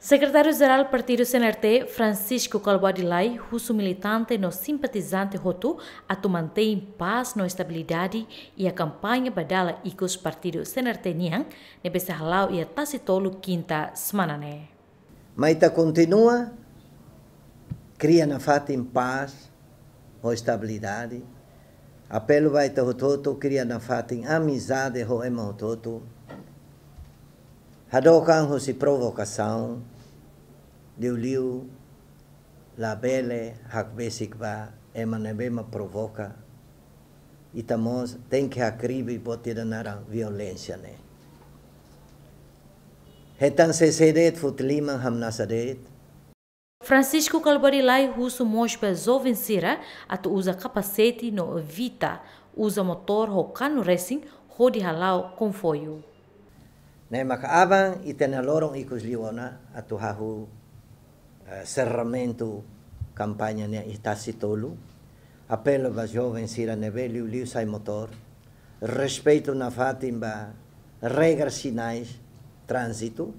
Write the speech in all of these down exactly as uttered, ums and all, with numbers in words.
Sekretáriu Jerál Partidu C N R T, Francisco Kalbuadi Lay, husu militante no simpatizante hotu atu mantein pás no estabilidade iha kampaña ba dala ikus Partidu C N R T nian, ne'ebé sei hala'o iha Tasitolu, kinta semana ne'e. Mai ita kontinua kria nafatin pás ho estabilidade. Apelu ba ita hotu-hotu kria nafatin amizade ho ema hotu-hotu. Hadook an husi provokasaun, liuliu labele hakbesik ba ema ne'ebé mak provoka. Ita mós tenke hakribi buat ida naran violénsia ne'e. Hetan sesé de'it, foti liman, hamnasa de'it. Francisco Kalbuadi Lay husu mós ba joven sira atu uza kapasete no evita uza motór ho kanu resin hodi hala'o komboiu. Ne'e maka aban ita-nia loron ikus liu ona atu hahú, eh, serramentu kampaña ne'e iha Tasitolu. Apelu ba joven sira ne'ebé liuliu sai motór, respeitu nafatin ba regra sinais tránzitu,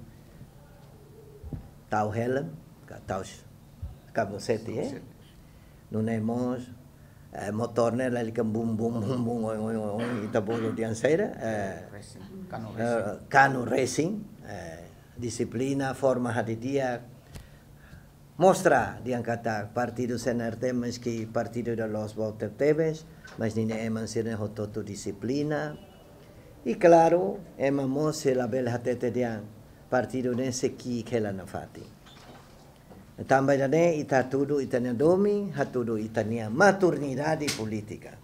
tau helm, ka tau s-, kapasete, eh? Kapasete. Nune'e mós, eh, motór ne'e lalika bum, bum, bum, bum, oin, oin, oin, oin, ita bolu dehan saida, eh, Racing, kanu eh, racing. Kanu racing, eh, dixiplina, forma hadi'a di'ak, mostra dehan katak partidu C N R T, maski partidu ida loos boot tebes, mas ninia ema sira-ne'e hotu-hotu dixiplina. I klaru, ema mós sei labele hatete dehan partidu ne'e sei ki'ik hela nafatin. Tanba ida-ne'e ita hatudu ita-nia domin, hatudu ita-nia maturidade polítika.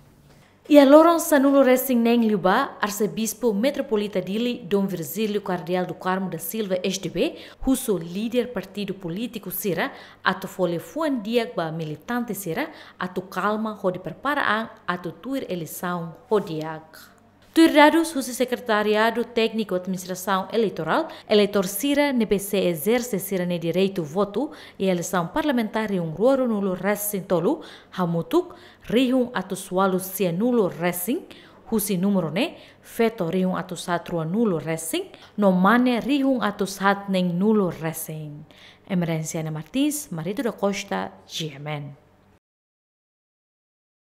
Iha loron sanulu resin neen liubá, Arsebispu Metropolita Dili, Dom Virgílio Kardeál do Carmo da Silva, S D B, husu líder partidu polítiku sira atu fó liafuan di'ak ba militante sira atu kalma hodi prepara an atu tuir eleisaun ho di'ak. Tuir dadus husi Sekretariadu Tékniku Administrasaun Eleitorál, eleitór sira ne'ebé sei ezerse sira-nia direitu votu iha eleisaun parlamentár rihun rua ruanulu resin tolu hamutuk rihun atus ualu sianulu resin, husi númeru ne'e feto rihun atus haat ruanulu resin, no mane rihun atus haat neenulu resin. Emerenciana Martins, Marito da Costa, G M N.